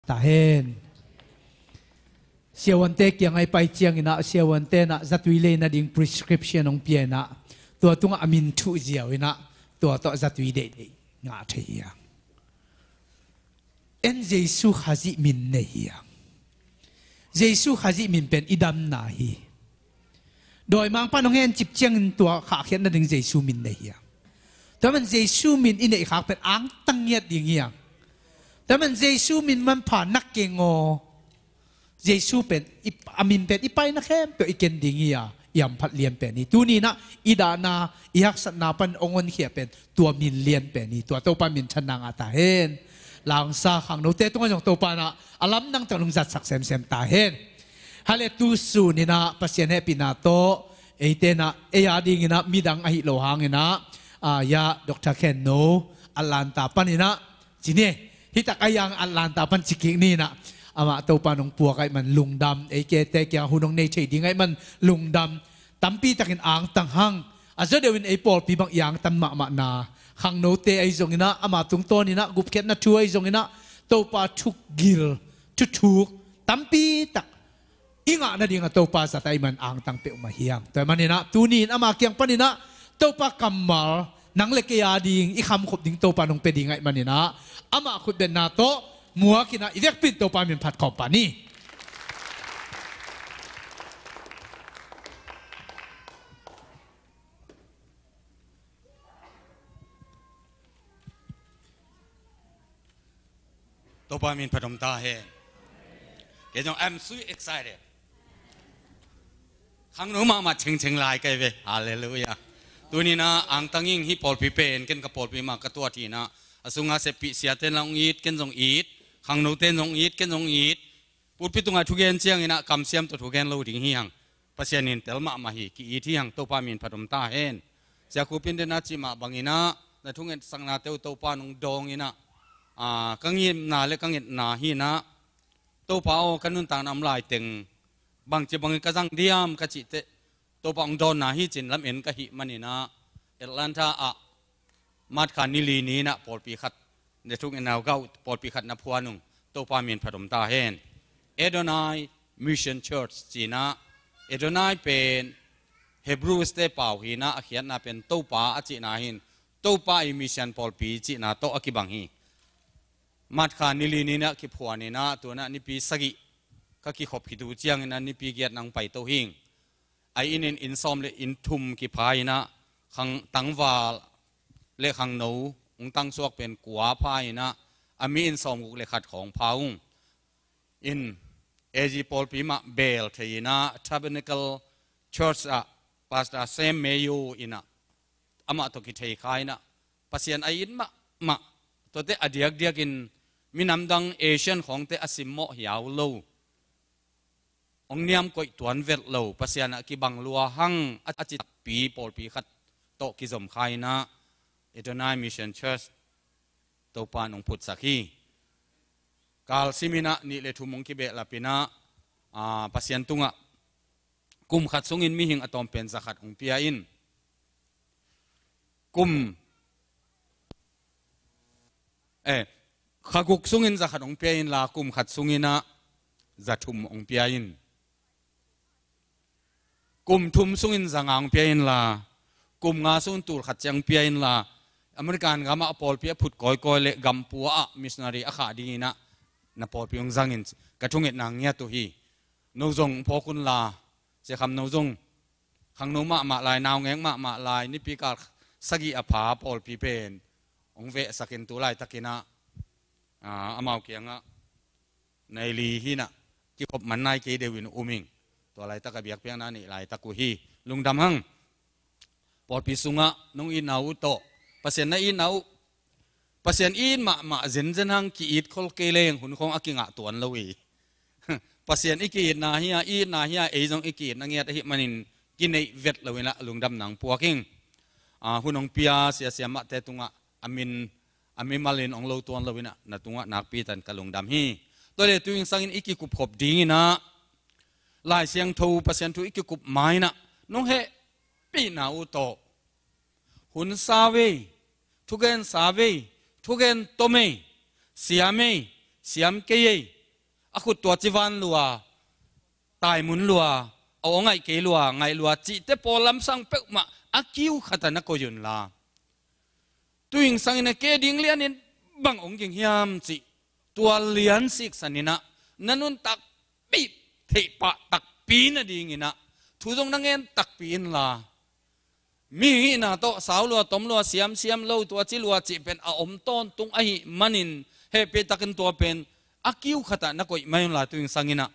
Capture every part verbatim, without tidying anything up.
Ta hen. Siavuante kiangah i pai cianginah siavuante inah zatui lei nading prescription hong pia inah tua tungah a min thuh ziau inah tua tawh zatui deihdeih ngah thei hi a. En Jesu Khazih min nei hi a. Jesu Khazih min pen i damna hi. Dawimangpa nong hencip ciangin tua khahkhiat nading Jesu min nei hi a. Tua man Jesu min i neihkhak pen angtang ngiat ding hi a. Tua man Jesu min manpha nak keng aw. Jesu pen i, a min pen i paina khempeuh i ken ding hi a, i hamphat lian pen hi. Tuni inah i dahna, i haksatna pan hong honkhia pen tua min lian pen hi. Tua Topa minthanna ngah ta hen. Langsa khangnote tungah zong Topa inah a lamdang tawh nong zatsak semsem ta hen. Hale tu sun inah Pasian hehpihna tawh eite inah ei a dinginah midang ahi lo hanginah, ah, ya Doctor Khen No Atlanta pan inah ci ni. Hitak a yang Atlanta pan ci kik ni inah amah Topa nong puak ahih man lungdam, ei kete kiang hun hong nei thei ding ahih man lungdam. Tampi takin angtang hang. A zaw deuhin ei pawlpi bang i angtang mahmahna, khangnote ahi zonginah ama tungtawn inah gupkhiatna thu ahi zonginah Topa thugil, thuthuk tampi tak i ngah nading a Topa zat ahih man angtang peuhmah hi hang. Tua ahih maninah tuni in ama kiang paninah Topa kammal nang le kei a ding i khamkhop ding Topa nong pia ding ahih maninah amah khutbetna tawh muakinah i vekpi in Topa min phat khawm pah ni. Topa min phat om ta hen. Kei zong, I'm so excited. Khangno mahmah thengtheng lai kai ve. Halleluiah. Tuninah angtang ing, hih pawlpi pen ken ka pawlpi mah ka tuat hinah a sunga seppih siate in la hong it, ken zong it, khangnote in zong it, ken zong it. Pulpit tungah thugen cianginah kamsiam tawh thugen lo ding hi hang. Pasian in tel mahmah hi, ki-it hi hang. Topa min phat om ta hen. Sia Khup in den a cih mah banginah na thungetsaknate uh Topa nong dawnginah, ah, ka ngimna le ka ngetna hinah Topa aw, ka nuntakna om laiteng bangci bangin ka zang diam ka cihteh Topa hong dawnna hi cin lamen ka hih maninah Atlanta ah March kha ni li ni inah pawlpi khat, ne thung inau gau pawlpi khat na phuan ung. Topa min phat om ta hen. Adonai Mission Church cinah, Adonai pen Hebrews te pau hinah a khiatna pen Topa a cihna hin Topa i mission pawlpi cihna tawh a kibang hi. March kha ni li ni inah kiphuan inah tunah nipi sagih ka kikhop khit uh cianginah nipi giat nang paito hing. A inn in inn sawm le inn thum kipha inah khang tangval le khangno hong tangsuak pen kua pha inah a mi inn sawmguk le khat khawng pha ung. In A G pawlpi mah beel thei inah Tabernacle Church ah Pastor Sam Mayo inah amah tawh kithei kha inah Pasian a it mahmah, tuate a diakdiakin minamdang Asian khawngte a simmawh hiau lo, hong niam koih tuan vet lo, Pasian ah kibang lua hang a ci takpi pawlpi khat tawh kizom kha inah Adonai Mission Church Topa in hong phutsak hi. Kalsim inah nih le thum hong kibehlap inah, ah, Pasian tungah kum khat sungin mihing a tawm pen za khat hong pia in. Kum, eh, kha guk sungin za khat hong pia inla kum khat sunginah za thum hong pia in. Kum thum sungin za nga hong pia inla kum nga sungin tul khat ciang pia inla American gamah a pawlpi a phut kawikawi le gampua ah missionary a khah dinginah na pawlpi hong zangin ka thungetna ngiat uh hi. No zong phawk unla, Sia Kham No zong khangno mahmah lai, naungek mahmah lai, nipi kal sagih a pha pawlpi pen hong vehsakin tu laitakinah, ah, amau kiangah nai li hinah kikhop man nai kei deuhin um ing. Tua laitak a biakpiakna neih laitak uh hi. Lungdam hang. Pawlpi sungah nong itna uh tawh Pasian na itna uh, Pasian it mahmah zenzen hang ki-it khol kei leng hun khawng a kingah tuan lo hi. Pasian i ki-itna hi a, i itna hi a, ei zong i ki-itna ngiat ahih manin kineih vet lo inah lungdam nang puak ing. Ah, hun hong pia siasia mahte tungah a min a mimalin hong lo tuan lo inah na tungah nakpi tan ka lungdam hi. Tua le tu in sangin i kikupkhop dinginah Lai Siangtho Pasian thu i kikup ma inah nong hehpihna uh tawh hun sa vei, thugen sa vei, thugen tom ei, siam ei, siam kei ei, a khut tua ci van lua, taimun lua, a aw ngaih kei lua, ngaih lua cihte pawl lamsang peuhmah a kiu khatah na koih unla. Tuing sangin a kei ding lianin bang hong ging hiam cih tua lian siksan inah na nuntak bih theih pah takpi nadinginah thu zong na ngen takpi inla. Mihing hihna tawh sau lua, tom lua, siamsiam lo, tua ci lua cih pen a om tawntung ahih manin hehpihtakin tua pen a kiu khatah na koih mai unla tuing sanginah.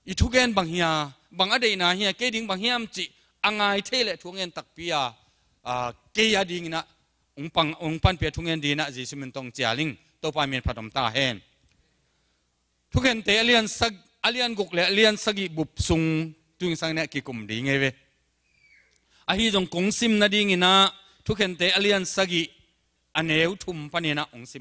I thugen bang hia, bang a deihna hia, kei ding bang hiam cih a ngai thei leh thu ngen takpi a, a, kei a dinginah hong pan, hong panpih a thu ngen dinginah Jesu min tawh cial ing. Topa min phat om ta hen. Thukhente a lian sag-, a lian guk le a lian sagih bup sung tuing sanginah kikum ding hi ve. Ahi zong kong sim nadinginah Thukhente a lian sagih a neu thum paninah hong sim.